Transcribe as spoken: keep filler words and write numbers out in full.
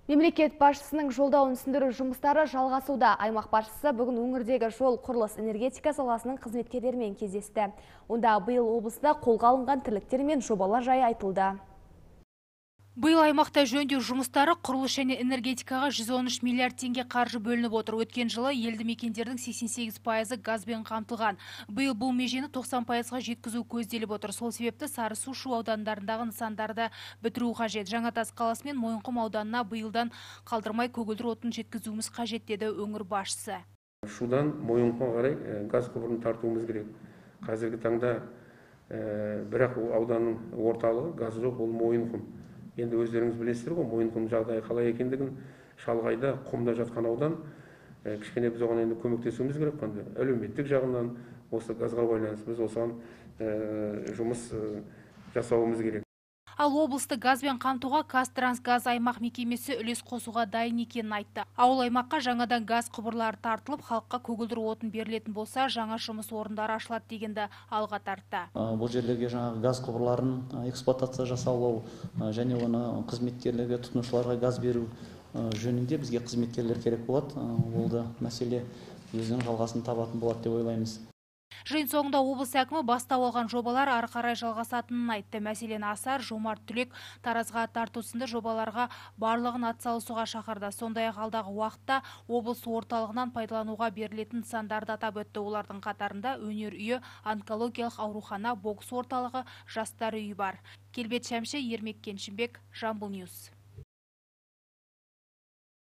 Мемлекет басшысының жолдауын түсіндіру жұмыстары жалғасуда. Аймақ басшысы бүгін өңірдегі жол құрылыс энергетика саласының қызметкерлерімен кездесті. Онда биыл облыста қолға алынған тірліктер мен жобалар жайы айтылды. Биыл аймақта жөндеу жұмыстары құрылыс және энергетикаға жүз он үш миллиард теңге қаржы бөлініп отыр. Өткен жылы елді мекендердің сексен сегіз пайызы газбен қамтылған. Биыл бұл межені тоқсан пайызға жеткізу көзделіп отыр. Сол себепті Сарысу, Шу аудандарындағы нысандарды бітіру қажет. Жаңатас қаласы мен Мойынқұм ауданына биылдан қалдырмай көгілдір отын жеткізуіміз қажет, деді өңір басшысы. Шудан Мойынқұмға қарай газ құбырын тартуымыз керек. Қазіргі таңда бірақ ауданның орталығы газ жоқ, ол Мойынқұм. Енді өздеріңіз білесіздер ғой, Мойынқұм жағдайы қалай екендігін, шалғайда, құмда жатқан аудан, кішкене біз оған енді көмектесуіміз керек қой. Әлеуметтік жағынан осы газға байланысты біз осыған жұмыс жасауымыз керек. Ал облысты газбен қамтуға Қазтрансгаз аймақ мекемесі үлес қосуға дайын екенін айтты. Ауыл аймаққа жаңадан газ құбырлары тартылып, халыққа көгілдір отын берілетін болса, жаңа жұмыс орындары ашылады дегенді алға тартты. Бұл жерлерге жаңағы газ құбырларын эксплуатация жасаулау және оны қызметкерлерге, тұтынушыларға газ беру жөнінде бізге қызметкерлер керек болады. Ол да мәселе өзінің жалғасын табатын болады деп ойлаймыз. Жиын соңында облыс әкімі бастау алған жобалар ары қарай жалғасатынын айтты. Мәселен, Асар, Жомарт Түлек, Таразға тарту сынды жобаларға барлығын атсалысуға шақырды. Сондай-ақ алдағы уақытта облыс орталығынан пайдалануға берілетін нысандарды атап өтті. Олардың қатарында өнер үйі, онкологиялық аурухана, бокс орталығы, жастар үйі бар. Келбет Шәмші, Ермек Кеншімбек, Жамбыл Ньюс.